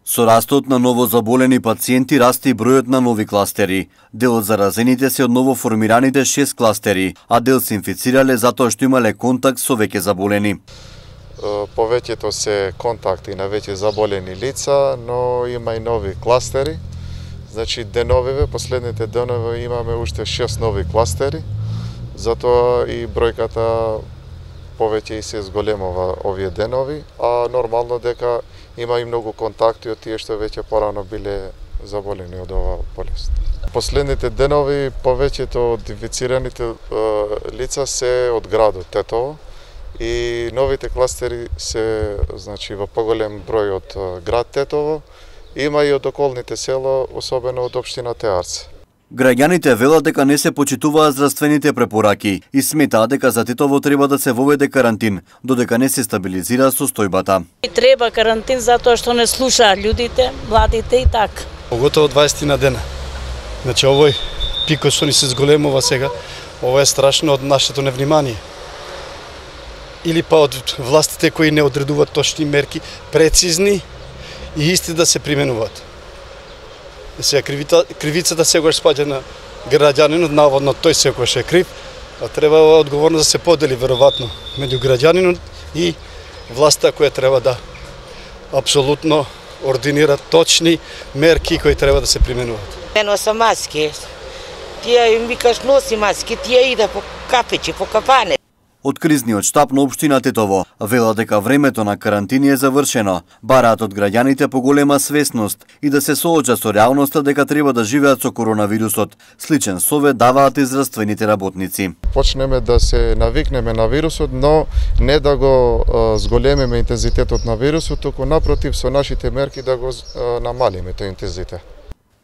Со растот на новозаболени пациенти расте и бројот на нови кластери. Дел од заразените се од новоформираните 6 кластери, а дел се инфицирале затоа што имале контакт со веќе заболени. Повеќето се контакти на веќе заболени лица, но има и нови кластери. Значи деновиве, последните денови имаме уште 6 нови кластери, затоа и бројката повеќе и се зголемува овие денови, а нормално дека има и многу контакти од тие што веќе порано биле заболени од оваа болест. Последните денови повеќето од инфицираните лица се од градот Тетово и новите кластери се во поголем број од град Тетово, има и од околните села, особено од општина Теарце. Граѓаните велат дека не се почитуваат здравствените препораки и сметаат дека за Тетово треба да се воведе карантин, додека не се стабилизира состојбата. Треба карантин затоа што не слушаат луѓето, младите и така. Поготово 20 на дена. Значи овој пикот што ни се зголемува сега, ова е страшно од нашето невнимание. Или па од властите кои не одредуваат точни мерки, прецизни и исти да се применуваат. Сега кривицата сегаш спаѓа на граѓанинот, наводно тој секогаш е крив, а треба одговорност да се подели веројатно меѓу граѓанинот и власта која треба да апсолутно ординира точни мерки кои треба да се применуваат. Не носам маски. Тие им викаш носи маски, тие иде по кафејче, по кафане. Од кризниот штаб на општина Тетово велат дека времето на карантини е завршено. Бараат од граѓаните поголема свесност и да се соочат со реалноста дека треба да живеат со коронавирусот. Сличен совет даваат и здравствените работници. Почнеме да се навикнеме на вирусот, но не да го зголемиме интензитетот на вирусот, туку напротив со нашите мерки да го намалиме тој интензитет.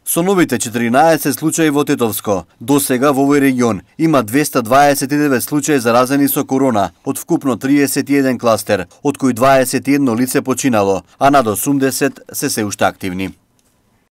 Со новите 14 случаи во Тетовско, до сега во овој регион има 229 случаи заразени со корона, од вкупно 31 кластер, од кои 21 лице починало, а над 80 се уште активни.